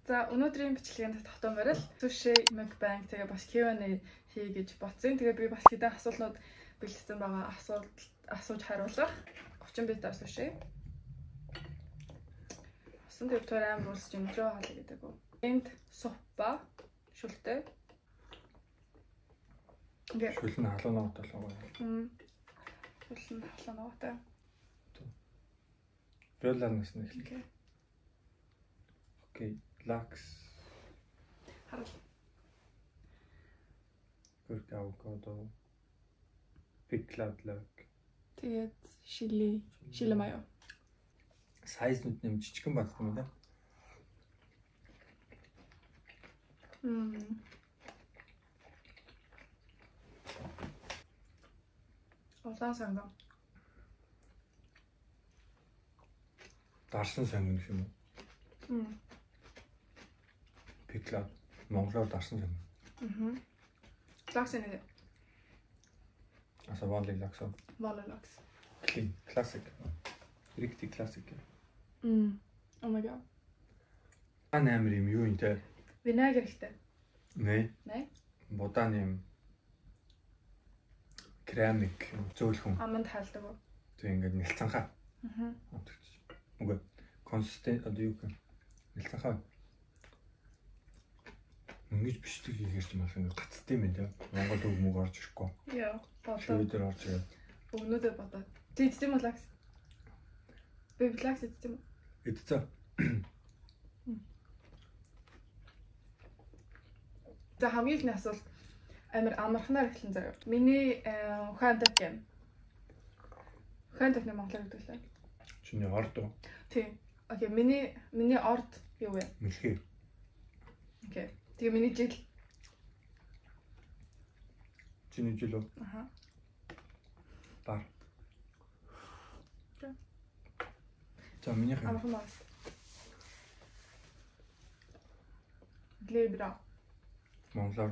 За өнөөдрийн бичлэгэнд тогтоон барил суши мукбанг тэгээ бас Q&A хий гэж бодсон. Тэгээ би бас хэдэн асуултууд бэлдсэн байгаа. Асууж хариулах 30 битар суши. Асан дэвтэр амар улс жимтрөө хаалга гэдэг үү. Энд суппа шүлтэй. Шүлэн халуунаатай л байгаа. Шүлэн халуунаатай. Ролланаас нь эхлэв. Окей, лакс. Харал. Гүрк авокадо. Pickled lök. Тэгээд шили маяо. Сайз нүд нэм жижигэн багт юм да. Улаан сангам. Дарсан сангам юм уу? Pickled монголоор дарсан сангам. Лакс нэг. Аса вали лакс. Вали лакс. Clean, classic. Riktig classic. Oh my god. Амар юм юу юм те? Винегр ихтэй. Нэ. Нэ? Будаан юм. Кремик зөөлхөн. Аманд хаалдаг уу? Тэг ингээд нэлцанхаа. Үгүй. Консистент одоо юу гэх юм? Нэлцанхаа. Ингэж бичдэг хийгэрч юм байна. Гацд юм те. Монгол үг мөг орж ирэхгүй. Яа. Шийдэр орж ирээд. Өгнөдөө бодоод. Тэгдэм үү лакс? Би лакс иддэм үү? Идцээ. За хамгийн ихний асуулт амархнаар эхлэн заяа. Миний ухаантай юм. Ухаантай монголоор гэдэг лээ. Чиний орд уу? Тийм. Окей, миний орд юу вэ? Мэлхий. Окей. Тэгээ миний жил. Чиний жил үү? Аха. Бар. За миний амархан бас. Глебра. монголоор.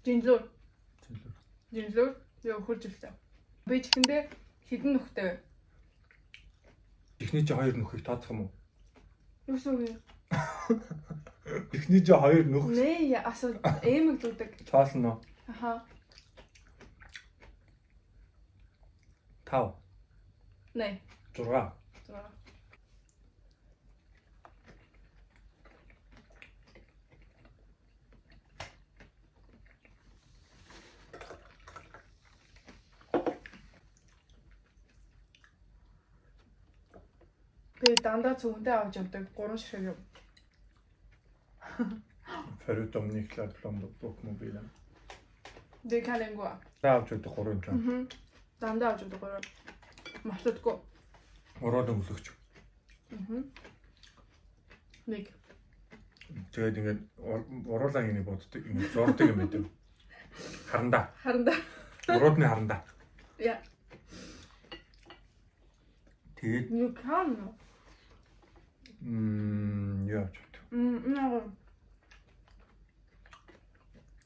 Жинлүр. Яа хурж илтээ. Би чихэндээ хідэн нөхтэй вэ? Эхний чи хоёр нөхийг тооцох юм уу? Юу вэ? Эхний чи хоёр нөх. Нэ, асуу эмэг дүүдэг. Цаасан уу? Аха. 5. Нэ. 6. Би дандаа цүнхтэй авч явдаг 3 ширхэг юм. Förutom nycklar, plånbok och mobilen. Det kan ingå. Där avslutar jag 3 юм. Дандаа авч явдаг 3. Мартдаггүй. Ороод өнгөлөгч. Нэг. Тэгээд ингээд оруулаа ингэ боддог, ингэ зурдаг юм байдаг. Харандаа. Уруудны харандаа. Яа. Тэгээд You can. яа ч. Наа.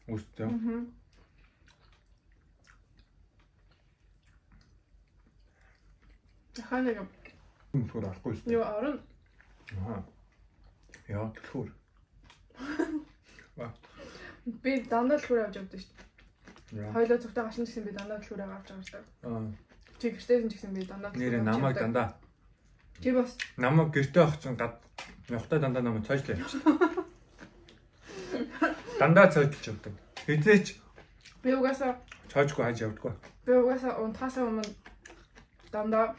Үстэй. Ханаа. Түр арахгүй үстэй. Юу орон. Аа. Яа түр. Би дандаа түр авч явдаг шүү дээ. Яа. Хойлоо зүгтээ гашин гэсэн би дандаа түр авч авдаг шүү дээ. Аа. Чи гэртээсэн ч гэсэн би дандаа түр. Нэрээ намайг дандаа. Чи бас Намайг гэртээ авах чинь явахтай дандаа намайг цойжлаа явчихсан. Дандаа цойжлж явдаг. Хизээч би угаасаа цойжгүй хаж явдаггүй. би угаасаа унтахаас өмнө дандаа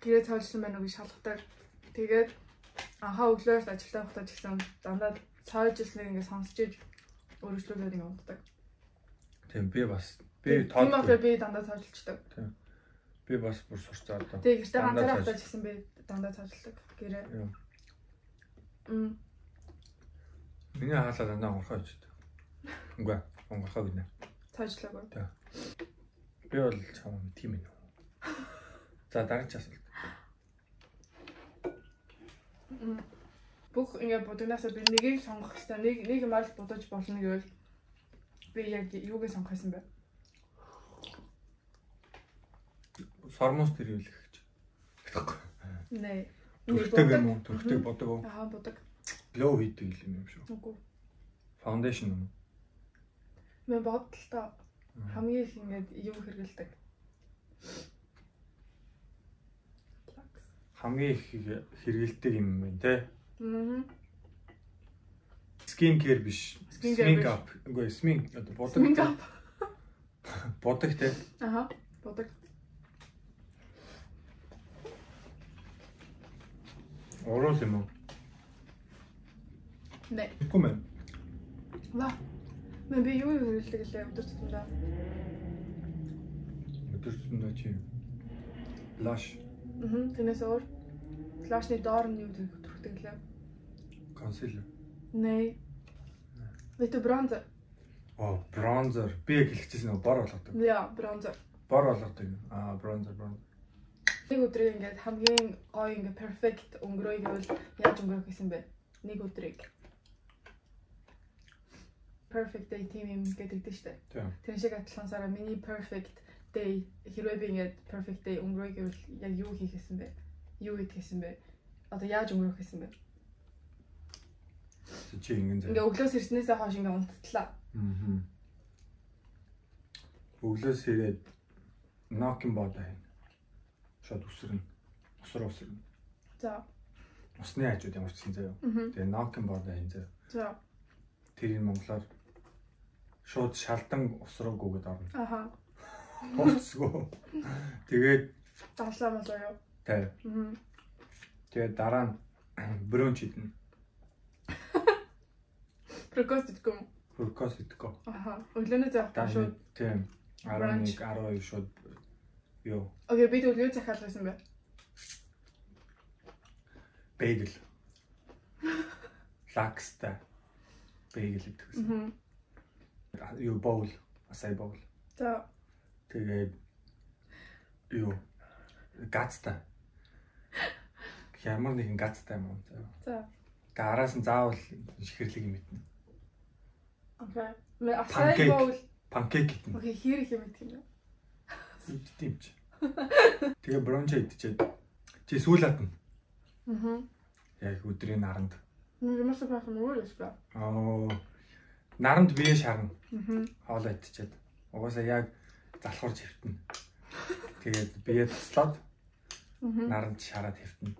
гэрээ цойжлсан байна уу гэж шалгадаг. Тэгээд анхаа өглөөр ажилдаа явахдаа ч гэсэн дандаа цойжлсныг ингээд сонсч иж өөрчлөлөөр ингээд унтдаг. Тийм би бас Тийм болохоор би дандаа цойжлцдаг. Тийм. Би бас бүр сурцаа одоо. Тэгээд гэртээ ганцаараа явахдаа ч гэсэн би дандаа цойжлдаг гэрээ. Миний хаалаа дандаа онгорхоо ичдэг. Үгүй онгорхоо гинэ. Цойжлаагүй. Тийм. Би бол чамаа тийм ээ. За дараагийн асуулт. Бүх ингээд бодогнасаа би нэгийг сонгох хэрэгтэй. Нэг юм аль бодож болно гэвэл би яг юуг сонгох гэсэн бэ? Сормоос тэрүүлэх гэж. Нэ. Төрхтэй юм уу? Төрхтэй бодог уу? Аа бодог. Glow хийдэг юм шүү. Үгүй. Foundation юм. Мэн бодлоо хамгийн их ингээд юу хэрэгэлдэг. Хамгийн их хэрэгэлдэг юм байна те. Skin care биш. Skin up. Үгүй сминк бодог. Сминк ап. Бодог те. Аха. Бодог. Орол юм уу? Не. Гүмэн. Ва. Мэн би юу хэрэгэлдэг лээ өдөр тутамдаа. Өдөр тутамдаа чи blush. Тэрнээс өөр blush-ны доор нь юу төрхтэй лээ? Concealer. Не. Вэто bronzer. Оо, bronzer. Би яг хэлчихсэн нөө бор болгодог. Яа, bronzer. Бор болгодог. Bronzer. Нэг өдрийг ингээд хамгийн гоё ингээд perfect өнгөрөөе гэвэл яаж өнгөрөх гэсэн бэ? Нэг өдрийг perfect day team юм гэдэг дээ. Тэр шиг адилхансаараа миний perfect day хэрвээ би ингээд perfect day өнгөрөөе гэвэл яг юу хийх гэсэн бэ? Юу хийх гэсэн бэ? Одоо яаж өнгөрөх гэсэн бэ? Чи ингэ ингээ өглөөс ирснээсээ хойш ингээ унттлаа. Өглөөс ирээд knocking бодоо хийнэ. Шууд үсрэн. Усрын. За. Усны хажууд ямар ч юм заяа. Тэгээ knocking бодоо хийнэ заяа. За. Тэрийг монголоор шууд шалдан усруугүйгээд орно. Аха. Усгүй. Тэгээд даалаа мал юу? Тэ. Тэгээд дараа нь брунч идэнэ. Брокколи идэггүй. Аха. Өглөөний завтра шууд тийм 11 12 шууд юу. Окей, бид өглөө захиалга хийсэн бай. Bagel. Лакстай. Bagel идэгсэн. Юу боул, асай боул. За. Тэгээд юу гацтай. Ямар нэгэн гацтай юм уу? За. Араас нь заавал шихэрлэг юм идэнэ. Окей. Мэ асай боул панкейк идэнэ. Окей, хэр их юм идэх юм бэ? Идтиймч. Тэгээ бронч идчихэд чи сүүл хатна. Яг өдрийн наранд. Юмас байх юм уу л ба. Наранд бие шарна. Хоолоо идчихэд. Угаасаа яг залхуур хөвтнө. Тэгээд бие туслаад наранд шараад хөвтнө.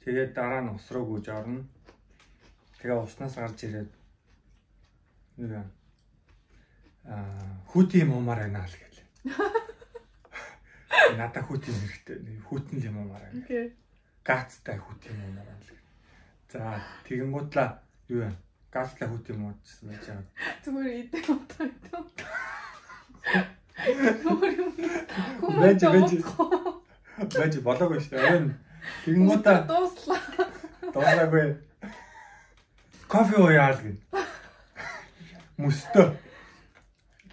Тэгээд дараа нь ус руу гүйж орно. Тэгээ уснаас гарч ирээд юу яа. Хүүти юм уумаар байна л гээл. Надаа хүүти хэрэгтэй. Хүүтэн юм уумаар байна. Окей. Гацтай хүүти юм уумаар байна л гээл. За тэгэнгүүтлээ юу яа. Гацтай хүүти юм уучсан байж байгаа. Зүгээр идэх утгатай. Байж болоогүй шүү дээ. Тэгэнгүүтээ дууслаа. Дууслаагүй. Кофе ууяал гин. Мөстөө.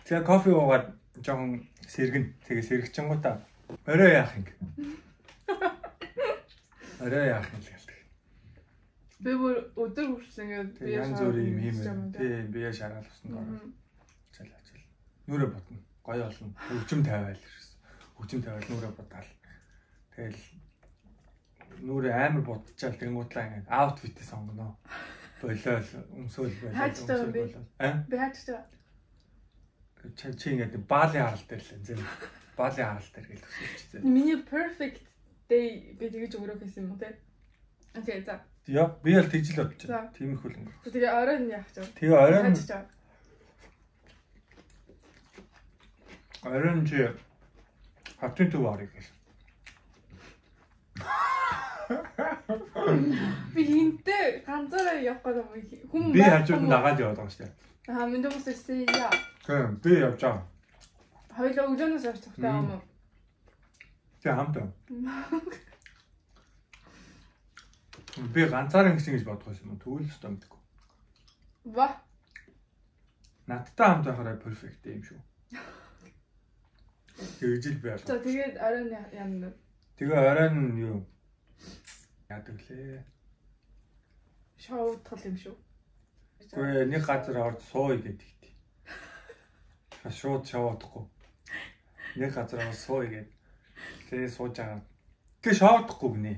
Тэгээ кофе уугаад жоохон сэргэн. Тэгээ сэргчэнгуудаа орой яах юм. Орой яах юм л гэлдэг. Би бүр өдөр хүртэл ингээд бие янз бүрийн юм хиймээ. Тий, бие шараал усанд ороо. Чалаач. Нүрэ ботно. Гоё олно. Хөгжим тавиал гэсэн. Хөгжим тавиал нүрэ бодаал. Тэгэл нүрэ амар бодчихал тэнгуудлаа ингээд аутфитээ сонгоно. Болол өмсөөл болол. Би хаачтаа. Чи ингээд баалын харал дээр л зэн. Баалын харал дээр гэл төсөлч зэн. Миний perfect day би тэгэж өнгөрөх гэсэн юм те. Окей, за. Яа, би л тэгж л бодчих. Тийм их үл өнгөрөх. Тэгээ орой нь яах вэ? Тэгээ орой нь чи хатын төв арыг гэл. Би хинтээ ганцаараа явах гэдэг юм. Би хажууд нь дагаад яваад байгаа шүү дээ. Минь дөөс ирсэн яа. Тийм, би явж байгаа. Хоёулаа өглөөнөөс авч тахтай юм уу? Тэгээ хамтаа. Би ганцаараа ингэсэн гэж бодох юм. Тэгвэл өстой мэдгүй. Ва. Надтай хамт байхаараа перфект юм шүү. Тэгж л байл. За тэгээд орой нь яана. Тэгээ орой нь юу? Яадаг лээ. Шоу утгал юм шүү. Гэхдээ нэг газар орж сууя гэдэг. Шууд шаваадахгүй. Нэг газар орж сууя гэдэг. Тэгээ сууж байгаа. Тэгээ шаваадахгүй гинэ.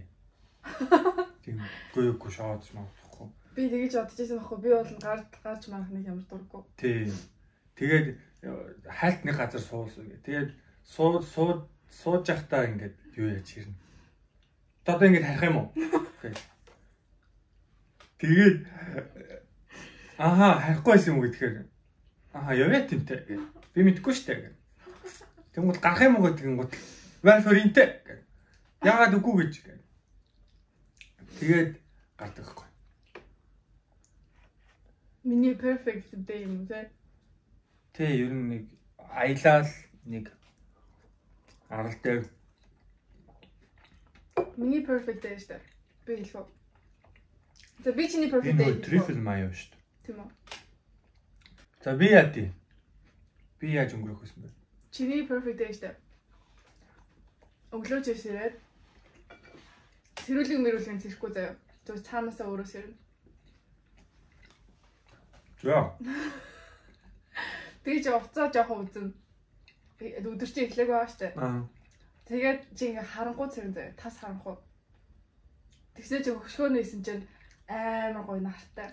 тийм гүйггүй шоодч магадгүй. Би тэгэж бодож байсан байхгүй. Би бол гарч марах нэг ямар дурггүй. Тий. Тэгээд хайлт нэг газар суулсан гэ. Тэгээд сууж явахдаа ингээд юу яаж ирнэ. Одоо ингээд харах юм уу? Тэгээд харихгүй байсан юм уу гэхээр яваа тэмтэй гэ. Би мэдэхгүй штэ гэ. Тэнгууд гарах юм уу гэнгүүт ваа форинтэй гэ. Яагаад үгүй гэж гэ. Тэгээд гардаг байхгүй. Миний perfect day юм те. Тэ ер нь нэг аялал нэг арал дээр миний perfect day шүү дээ. Би хэлэх үү. За би чиний perfect day. Энэ трифл маяа шүү дээ. Тийм үү. За би яа тий. Би яаж өнгөрөх вэ бэ? Чиний perfect day шүү дээ. Өглөөж ирээд сэрүүлэг цэрэхгүй заяа. Зөв цаанаасаа өөрөө сэрнэ. За. Тэгж уцаа жоохон үзэн. Өдөр чи эхлэх байгаа шүү дээ. Тэгээд чи ингээ харангуй цэрэн заяа. Тас харанхуй. Тэгсээ чи хөшгөө нээсэн чинь амар гоё нартай.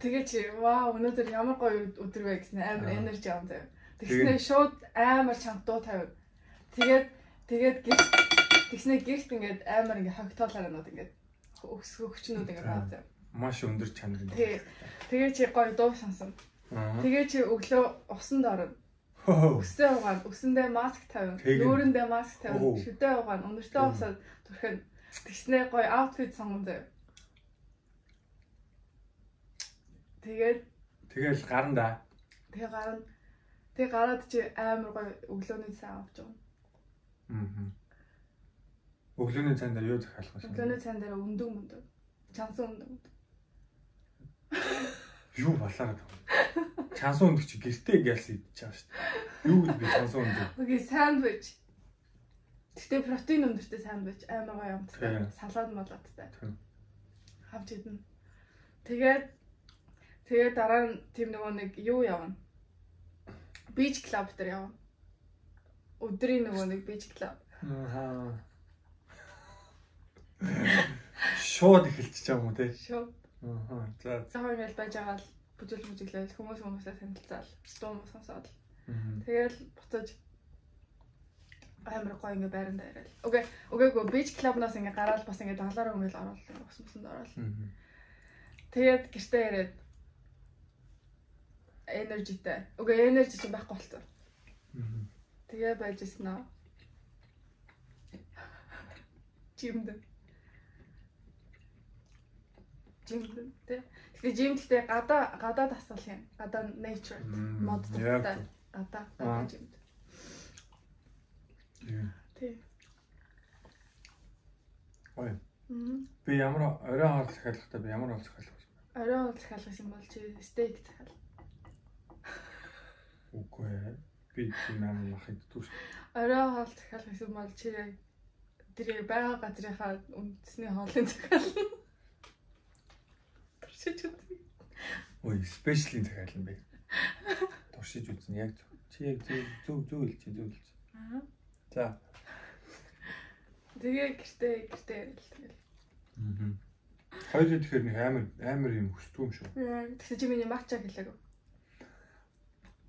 Тэгээд чи вау өнөөдөр ямар гоё өдөр вэ гэсэн амар энержи авсан заяа. Тэгснээ шууд амар чамд дуу тавив. Тэгээд тэгснээ гихт ингээд амар ингээд хогтоолаарнууд ингээд өгчнүүд ингээд байгаа заяа. Маш өндөр чанар. Тэгээ чи гоё дуу сонсон. Тэгээ чи өглөө усанд орно. Өсөө угаан, өсөндөө маск тавина. Нүүрэндээ маск тавина. Шүдээ угаан, өнөртөө усаад түрхэн тэгснээ гоё аутфит сонгон заяа. Тэгэл гарна да. Тэгээ гараад чи амар гоё өглөөний цай авч байгаа. Өглөөний цайнд юу захиалах вэ? Өглөөний цайнд өндөг. Чансан өндөг. Юу балаад байна? Чансан өндөг чи гэртээ гэлс идчихэж байгаа шүү дээ. Юу гэж би чансан өндөг? Окей, сандвич. Тэгтээ протеин өндөртэй сандвич амар гоё амттай. Салаад малаадтай. Хавж идэн. Тэгээд дараа нь тийм нөгөө нэг юу явна. Beach club дээр явна. Өдрийн нөгөө нэг beach club. Шууд эхэлчихэж байгаа юм уу те? Шууд. За. Цаахын ял байж байгаа л бүжиглээл хүмүүсээ танилцаал. Дуу муу сонсоод. Тэгэл буцаж амар гоё ингээ байранд ирэл. Окей, beach club-наас ингээ гараад бас ингээ даглаараа өмөл ороод усмсанд ороод. Тэгээд гэртээ ирээд энержитэй. Энержи чинь байхгүй болтой. Тэгээ байжсэн аа. Жимд. Тэгээ жимдтэй гадаа тасгал юм. Гадаа nature модтай. Гадаа жимд. Тий. Ой. Би ямар орой хоол захиалгатай би ямар хоол захиалах вэ? Орой хоол захиалгах юм бол чи стейк захиал. Үгүй ээ. Би тийм мах иддэг шүү. Орой хоол захиалах юм бол чи тэр байгаа газрынхаа үндэсний хоолыг захиална. Туршиж үзье. Ой, спешиалын захиална бэ. Туршиж үзэн яг чи яг зөв хэлж. За. Тэгээ гэртээ ярил тэгэл. Хоёроо тэгэхээр нэг амар юм хүсдэг юм шүү. Тэгсэн чи миний матча хэлээг.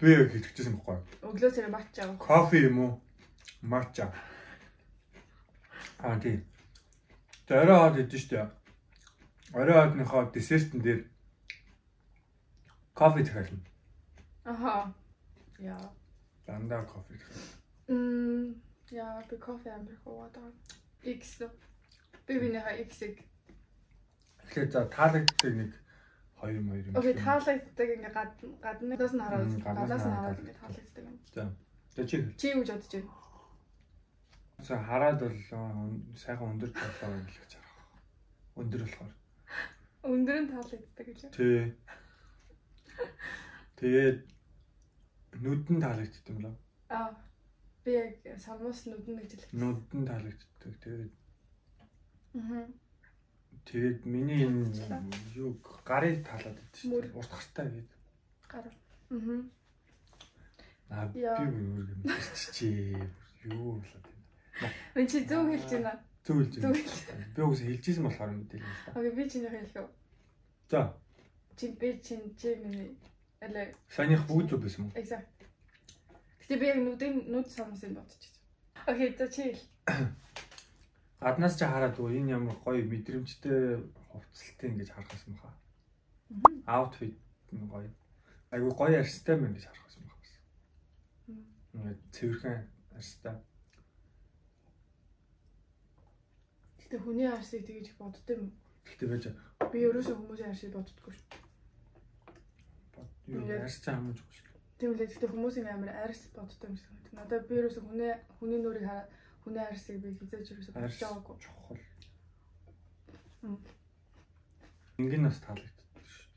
Би яг хэлчихсэн байхгүй. Өглөө царай матча. Кофе юм уу? Матча. Тий. Орой хоол идэж штэ. Орой хоолныхоо десертэн дээр кофе захиална. Яа. Дандаа кофе захиална. Яа, би кофе амар хаваад. X. Би бинийхээ X-ийг. Тэгэхээр за таалагддаг нэг 2 юм. Окей, таалагддаг ингээ гаднаас нь хараад ингээ таалагддаг юм. За чи юу бодож байна? За хараад бол сайхан өндөр талаа гэж харах. Өндөр болохоор. Өндөр нь таалагддаг гэж. Тий. Тэгээд нүдэн таалагддаг юм лөө. Би яг самуус нүдэн гэж хэлсэн. Нүдэн таалагддаг. Тэгээд миний юу гарыг таалаад байдаг шүү. Урт гартай гээд. Гар. Би юу юм чи юу болоод байна. Би чи зөв хэлж байна. Зөв хэлж байна. Би үгүйс хэлжсэн болохоор мэдээлэл л да. Окей, би чиний хэлэх үү. За. Чи миний алай. Санийх бүгд зөв байсан уу? Exact. Гэтэ би яг нүд самсын бодчихсон. Окей, за чи хэл. Гаднаас ч хараад уу энэ ямар гоё мэдрэмжтэй хувцалтай ингэж харах юм хаа. Outfit нь гоё. Айгу гоё арьстай мэн гэж харах юм байна. Ингээд цэвэрхэн арьстай. Гэтэ хүний арьсыг тэгж боддоо юм. Гэтэ байж би ерөөсөө хүмүүсийн арьсыг боддоггүй шүү. Юу арьс ч хамаагүй шүү. Тийм үлээ гэтэ хүмүүсийн амар арьс боддоо юм шиг байна. Надад би ерөөсөө хүний нүрийг хараад хүний арьсыг би хизээж ерөөсөө бодож байгаагүй. Чухал. Мингэн нас таалагддаг шүү.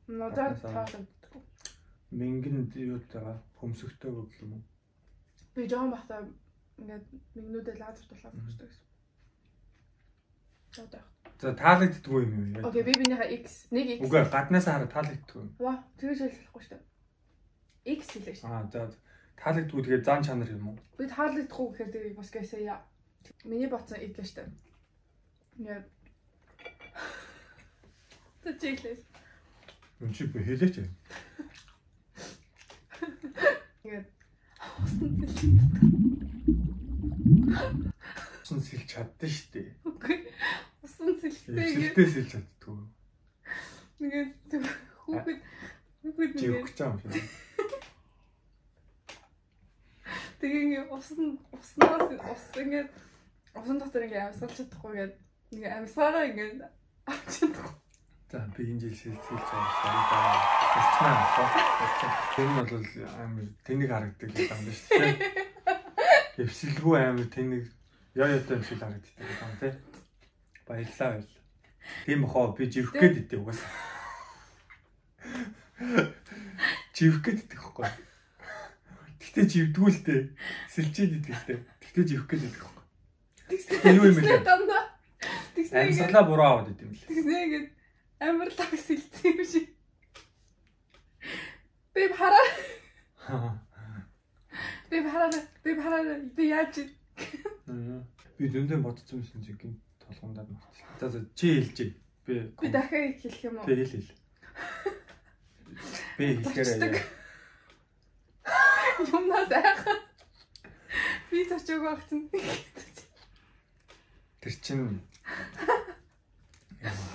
Надад таалагддаг. Мингэн юутайгаа хөмсөгтэй гэх юм уу? Би жоон бахта ингээд мингнүүдээ лазер тулаад өгсөн гэсэн. За таалагддаг юм юу? Окей, би бинийхээ X, нэг X. Үгүй гаднаас хараад таалагддаг юм. Ваа, тэгэж хэлэхгүй шүү дээ. X хэлээ шүү. За таалагддаг тэгээд зан чанар юм уу? Би таалагдахгүй гэхээр би бас гэсэн яа. Миний ботсон X л шүү дээ. Ингээд тэжээлээ. Үнчи би хэлээч. Ингээд усан сэлж чаддсан шүү дээ. Үгүй. Усан сэлтэй. Сэлтэй сэлж чаддгүй. Ингээд хүүхэд жиг гэж юм шиг. Тэгээ уснаас ингээд усан дотор ингээд амьсгалж чадахгүй ингээд нэг амьсгаараа ингээд авч чадахгүй. За би энэ жил сэлж авсан. Тэр нь бол амар тэнэг харагддаг юм байна шүү дээ. Эвсэлгүй амар тэнэг яатай юм шиг харагддаг юм тий. Баярлалаа. Тийм хоо би живх гээд идэв угаасаа. Живх гээд идэх байхгүй. Гэтэ живдгүү л дээ. Сэлчээд идэх дээ. Гэтэ живх гээд идэх байхгүй. Тэгснэ юу юм бэ? Тэгснэ амьсгалаа буруу аваад идэв юм лээ. Тэгснэ ингээд амар лаг сэлцээ юм шиг. Би хараа. Би яаж би зөндөө бодсон юм шиг гин толгондаад мартсан. За чи хэлж. Би дахиад хэлэх юм уу? Би хэл. Би хэлэхээр юмнаас айхаа. Би зочиг байх чинь. Тэр чин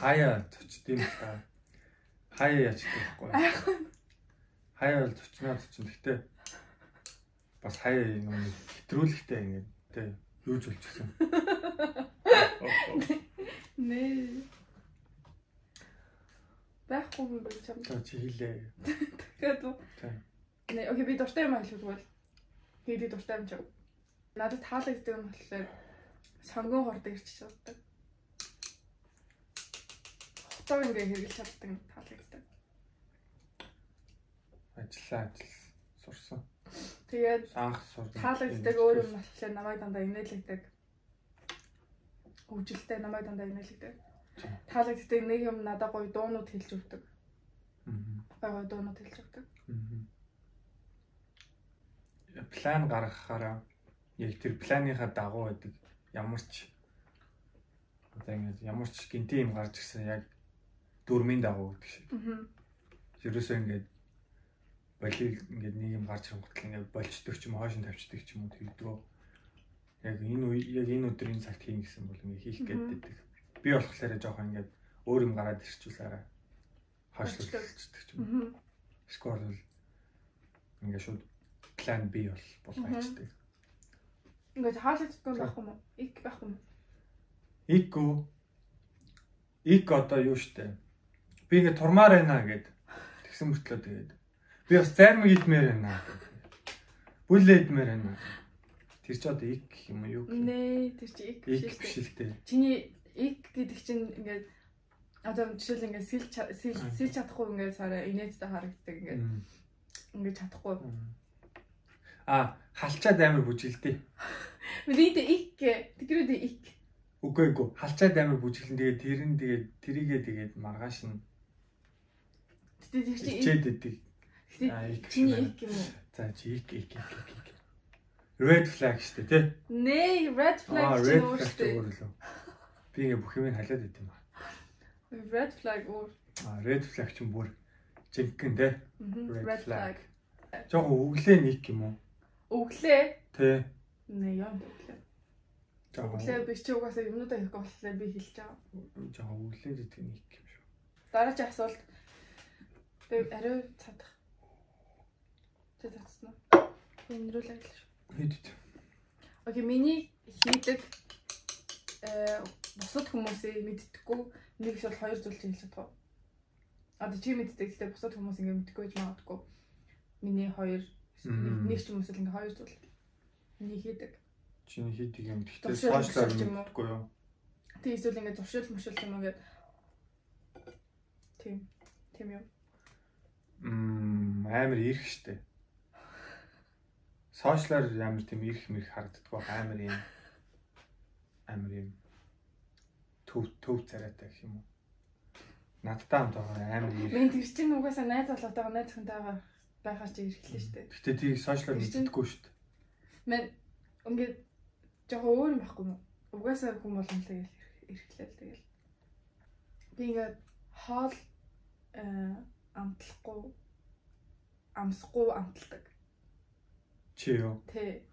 хаяа зочд юм та. Хаяа яач гэхгүй. Хаяа бол зочноо зочин. Гэтэ бас хаяа юм хэтрүүлэхтэй ингээд тэ юу ч болчихсон. Нэ. Байхгүй юм би чам. Чи хэлээ. Тэгээд нэ окей би дуртай юм хэлвэл би дуртай юм чам. Надад таалагддаг юм болохоор сонгон хордог ирчих чаддаг. Хотоо ингээ хэрэглэж чаддаг таалагддаг. Ажил сурсан. Тэгээд анх сурсан. Таалагддаг өөр юм болохоор намайг дандаа инээлэгдэг. Хөвжөлтэй намайг дандаа инээлэгдэг. Таалагддаг нэг юм надад гоё дуунууд хэлж өгдөг. Гоё дуунууд хэлж өгдөг. План гаргахаараа яг тэр планыхаа дагуу байдаг. Ямар ч одоо ингэж ямар ч гинти юм гарч ирсэн яг дөрмийн дагуу гэдэг шиг. Ерөөсөө ингэж болиг ингээд нэг юм гарч ирэнгүүт ингээд болчдөг ч юм уу хойш нь тавьчдаг ч юм уу тэгдэгөө. Яг энэ өдөр энэ цагт хийн гэсэн бол ингээд хийх гэдэг. Би болохоор жоохон ингээд өөр юм гараад ирчихвэлээрээ хойшлуулчихдаг ч юм уу. Скор бол ингээд шууд план B бол болчихдаг. Ингээд хаалцдаг байх юм уу? Ик байх юм уу? Ик одоо юу штэ. Би ингээд турмаар байна гэд тэгсэн мөртлөө тэгээд би бас зарим идмээр байна. Бүлээ идмээр байна. Тэр ч одоо ик юм уу юу гэх юм? Нэ, тэр чи ик биш л дээ. Чиний ик гэдэг чинь ингээд одоо жишээл ингээд сэлж чадахгүй ингээд сараа инээдтэй харагддаг ингээд чадахгүй. Халчаад амар бүжгэлдэй. Мэдээ ик тэгрээд ик. Үгүй халчаад амар бүжгэлэн тэгээд тэрийгээ тэгээд маргааш нь тэр чи чидэдэг. чиний ик юм уу? За чи ик. Red flag шүү дээ, тий? Nee, red flag red өөр flag шүү дээ. өөр лөө. Би ингээ бүх юм халиад байт юм аа. Red flag өөр. Red flag ч юм бүр жинхэнэ тий? Red flag. Жохоо өглөө нэг юм уу? Өглөө? Тий. Nee, яа өглөө. Өглөө би ч угаасаа юмнуудаа их болохоор би хэлж байгаа. Жохоо өглөө гэдэг нэг юм шүү. Дараагийн асуулт. Би ариу цадах. Тэ цадсан уу? Энэрүүл ажил шүү. Хэд. Окей, миний хийдэг бусад хүмүүсээ мэддэггүй нэг их бол хоёр зүйл хэлж чадах. Одоо чи мэддэг гэхдээ бусад хүмүүс ингэ мэддэггүй гэж магадгүй. Миний хоёр нэг ч хүмүүс л ингэ хоёр зүйл. Миний хийдэг. Чиний хийдэг юм. Гэхдээ сошиалар мэддэггүй юу? Тэг эсвэл ингэ зуршил мөшөл юм ингээд тийм юм. Амар ирэх штэ. Сошиалар ямар тийм ирэх мэрх харагддаг амар юм төв царайтай гэх юм уу. Надтай хамт байгаа амар ирэх. Мен тэр чинь угаасаа найз болоотойгоо найз хүнтэйгээ байхаар чи ирэхлээ штэ. Гэтэ тийг сошиалар мэддэггүй штэ. Мен ингээд жоохон өөр юм байхгүй юу? Угаасаа хүн боломжтой ирэхлээ л тэгэл. Би ингээд хоол амсахгүй амталдаг. Чи юу? Тий.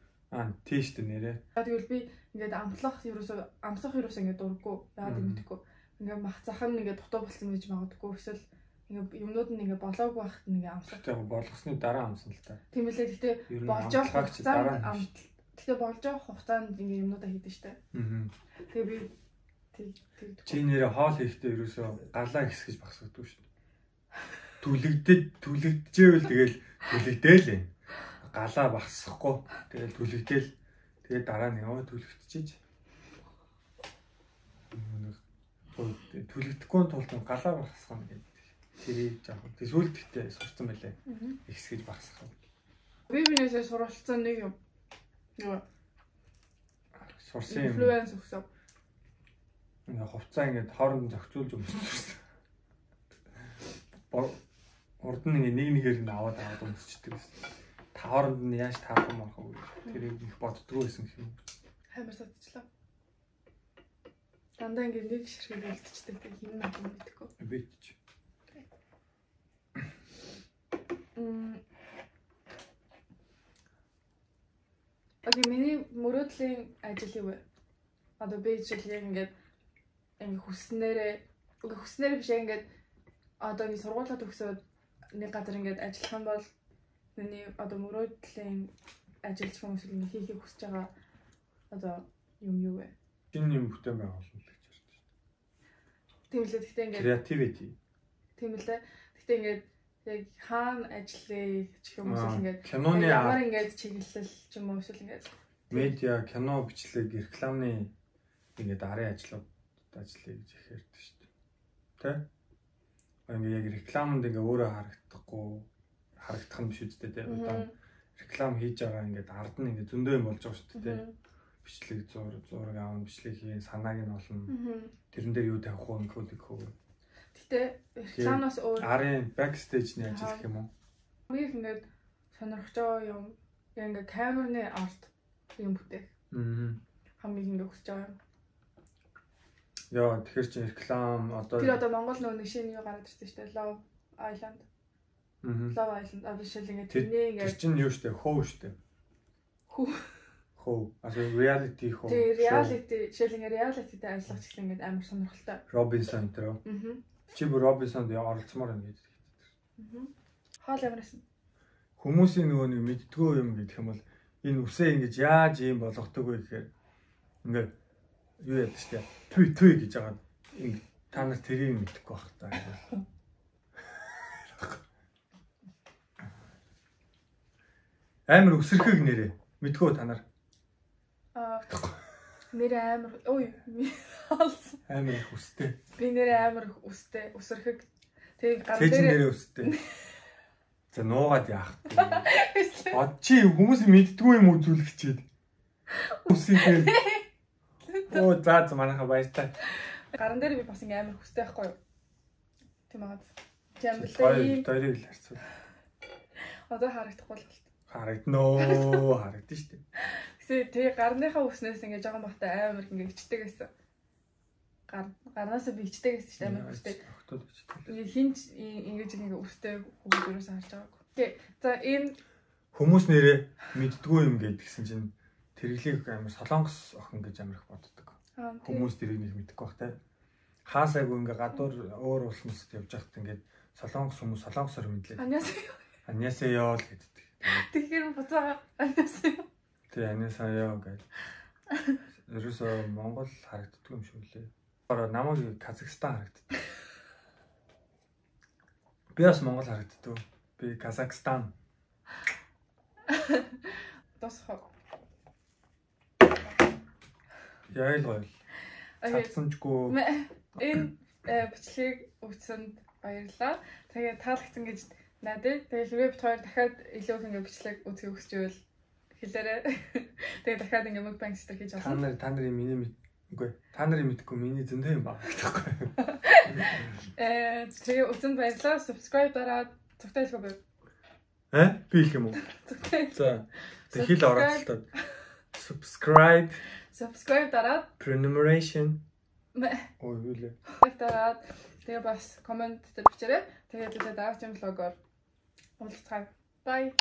Тийш дээ нэрээ. Тэгвэл би ингээд амсах ерөөсөө ингээд дурггүй. Яагаад юм мэдэхгүй. Ингээд мах зах нь ингээд дутуу болсон гэж магадгүй. Эсвэл ингээд юмнууд нь ингээд болоогүй байхад нь ингээд амсах. Тэгвэл болгосны дараа амсан л та. Тийм үлээ. Гэтэ болж явах хугацаанд гэтэ болж явах хугацаанд ингээд юмнуудаа хийдэж штэ. Тэгээ би чи нэрээ хоол хийхдээ ерөөсөө галаа хэсгэж багсагддаг штэ. Түлэгдэжээвэл тэгэл түлэгдээл ээ. Галаа багсахгүй. Тэгэл түлэгдээл. Тэгээд дараа нь яваа түлэгдчихэж. Түлэгдэхгүй тулд галаа багсах юм гэдэг. Тэрийг жоохон сүлдэгтэй сурцсан байлаа. Ихсгэж багсах. Би бинээсээ суралцсан нэг юм. Юу? Сурсан юм. Инфлюенс өгсөн. Ингээ хувцаа ингээд хооронд зохицуулж өмсчихсэн. Урд нь ингээ нэгээр нь аваад өмсчихдээ байсан. Та хооронд нь яаж таах юм арах вэ? Тэрийг их боддгоо байсан юм. Хамар садчлаа. Дандаа ингээ нэг ширхэг үлдчихдэг хин надад мэдхгүй. Бич. Окей, миний мөрөөдлийн ажил юу вэ? Одоо би жишээл яг ингээд хүснээрээ биш ингээд одоо ингэ сургуулаа төгсөөд нэг газар ингээд ажиллах юм бол миний одоо мөрөөдлийн ажилч хүмүүс ингэ хийхийг хүсэж байгаа одоо юм юу вэ? Энэ юм бүтээн байгуулалт гэж ярьж байна. Тийм үлээ. Гэхдээ ингээд creativity. Тийм үлээ. Гэхдээ ингээд яг хаана ажиллая гэх юм уу ингээд киноны ямар ингээд чиглэл ч юм уу эсвэл ингээд медиа, кино бичлэг, рекламны ингээд арын ажлууд ажиллая гэж их ярьдаг шүү дээ. Тэ? Ингээ яг рекламанд ингээ өөрөө харагдах нь биш үстэй тэ. Одоо реклам хийж байгаа ингээд ард нь ингээ зөндөө юм болж байгаа шүү дээ тэ. Бичлэг зураг аав, бичлэг хийн, санааг нь олно. Тэрэн дээр юу тавих уу, инкодик хөө. Гэтэ рекламаас өөр арын бэкстейжний ажил гэх юм уу? Би ингээд сонирхож байгаа юм. Яг ингээ камерны арт юм бүтээх. Хамгийн ингээ хүсэж байгаа юм. Яа, тэгэхээр чи реклам одоо тэр одоо Монгол нэг шинэ юу гараад ирсэн шүү дээ. Love Island. Love Island одоо жишээл ингээ тэрний ингээ тэр чинь юу шүү дээ? Хөө шүү дээ. Хөө. Also reality хөө. Тэр reality жишээл ингээ reality-тэй ажиллах ч гэсэн ингээ амар сонирхолтой. Robinson тэр. Чи бүр Robinson-д оролцмоор ингээд. Хоол ямарсан. Хүмүүсийн нөгөө нэг мэддгөө юм гэдэг юм бол энэ үсээ ингэж яаж юм болгодог вэ гэхээр ингээ юу яд штэ түй гэж байгаа та нар тэрийг мэдэхгүй байх та. Амар өсөрхөг нэрээ мэдгүй та нар. Нэр амар ой амар их өстэй. Би нэр амар их өстэй өсөрхөг. Тэгээ гар дээр нэрээ өстэй. За нуугаад яах вэ? Чи хүмүүс мэддгүй юм үзүүлэх чийд. Үсээ. Оо за манайха баяртай. Гаран дээр би бас ингээм амар хүстэй байхгүй юу? Тийм аа. Тийм л ийм хоёрыг л харцуул. Одоо харагдахгүй л болт. Харагдана шүү дээ. Гэтэ тэгээ гарныхаа үснээс ингээ жоохон бахтай амар ингээ ичдэг гэсэн. Гарнаас би ичдэг гэсэн чинь амар үстэй. Хинч ингэж ингээ үстэй хөвгөрөөс харж байгаагүй. Окей. За энэ хүмүүс нэрээ мэддгүй юм гэдгсэн чинь тэрглийг амар солонгос охин гэж амар их боддог. Хүмүүс тэрийг нэг мэдэхгүй бах те. Хаасайгүй ингээ гадуур өөр улс мөсөд явж байхад ингээ солонгос хүмүүс солонгосоор мэдлээ. Аньясеё л гэдэг. Тэгэхээр буцаага аньясеё. Тэ аньясеё гэж. Ерөөсөө Монгол харагддаг юм шиг лээ. Намайг Казахстан харагддаг. Би бас Монгол харагддаг. Би Казахстан. Тосхоо. Яа л гоё. Цацсанчгүй. Энэ бичлэгийг үзсэнд баярлалаа. Тэгээ таалагдсан гэж найдаа. Тэгээ хэрвээ бид хоёр дахиад илүү их ингээ бичлэг үзэх хүсч байвал хэлээрэй. Тэгээ дахиад ингээ mukbang стер хийж авах. Та нарын миний үгүй. Та нарын мэдгүй миний зөндөө юм байна гэхгүй. Тэгээ үзсэнд баярлалаа. Subscribe дараад цогтой хэлэх үү? Би хэлэх юм уу? За. Тэг хэл оролцолтой. Subscribe дараад prenumeration. Ой юу лээ. Дараад тэгээ бас комент дээр бичээрэй. Тэгээ дараагийн влогоор уулзцгаая. Bye.